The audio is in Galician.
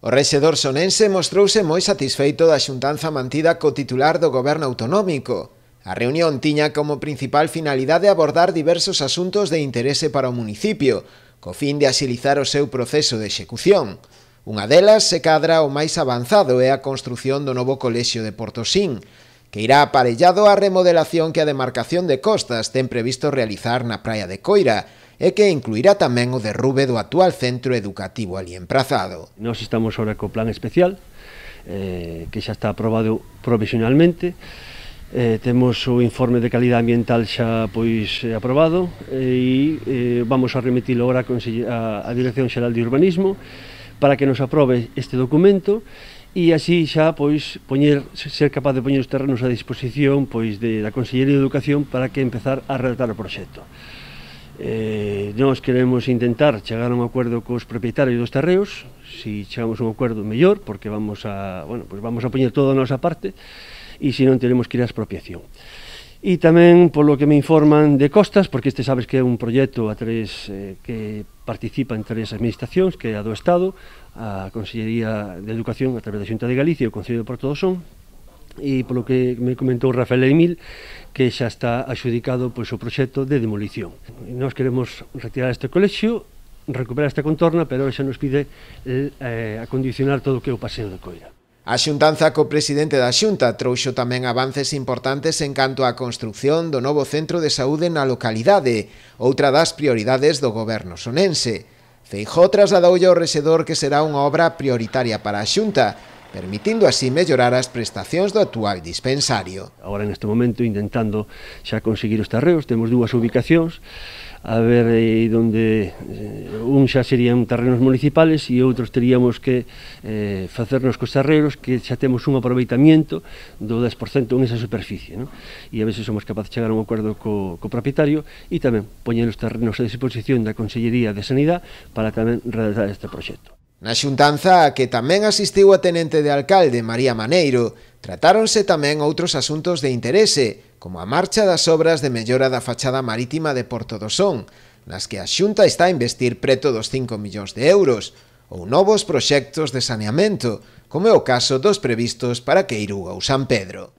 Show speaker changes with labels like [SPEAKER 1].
[SPEAKER 1] O rexedor sonense mostrouse moi satisfeito da xuntanza mantida co titular do goberno autonómico. A reunión tiña como principal finalidade abordar diversos asuntos de interese para o municipio, co fin de axilizar o seu proceso de execución. Unha delas se cadra o máis avanzado é a construción do novo colexio de Portosín, que irá aparellado á remodelación que a demarcación de Costas ten previsto realizar na praia de Coira, e que incluirá tamén o derrube do actual centro educativo ali emprazado.
[SPEAKER 2] Nós estamos ahora co plan especial, que xa está aprobado provisionalmente, temos o informe de calidad ambiental xa aprobado e vamos a remitilo agora á Dirección Xeral de Urbanismo para que nos aprobe este documento e así xa ser capaz de poñer os terrenos a disposición da Consellería de Educación para que empezar a redactar o proxecto. Nós queremos intentar chegar a un acordo cos propietarios dos terreos. Se chegamos a un acordo mellor, porque vamos a poñer toda a nosa parte, e se non teremos que ir á expropiación. E tamén, polo que me informan de Costas, porque este sabes que é un proxecto que participa en tres administracións, que é a do Estado, a Consellería de Educación a través da Xunta de Galicia e o Concello de Porto do Son, e polo que me comentou Rafael Emil, que xa está adxudicado o proxecto de demolición. Nós queremos retirar este colexio, recuperar esta contorna, pero xa nos pide acondicionar todo o que é o paseo de Coira.
[SPEAKER 1] A xuntanza co presidente da Xunta trouxo tamén avances importantes en canto á construción do novo centro de saúde na localidade, outra das prioridades do goberno sonense. Feijóo trasladoulle ao rexedor que será unha obra prioritaria para a Xunta, permitindo así mellorar as prestacións do actual dispensario.
[SPEAKER 2] Agora, neste momento, intentando xa conseguir os terreos, temos dúas ubicacións, a ver onde un xa serían terrenos municipales e outros teríamos que facernos cos terreros que xa temos un aproveitamiento do 10% en esa superficie, e a ver se somos capaces de chegar a un acordo co propietario e tamén poñer os terrenos a disposición da Consellería de Sanidade para tamén redactar este proxecto.
[SPEAKER 1] Na xuntanza, a que tamén asistiu a tenente de alcalde María Maneiro, tratáronse tamén outros asuntos de interese, como a marcha das obras de mellora da fachada marítima de Porto do Son, nas que a Xunta está a investir preto dos 5 millóns de euros, ou novos proxectos de saneamento, como é o caso dos previstos para Queiruga ou San Pedro.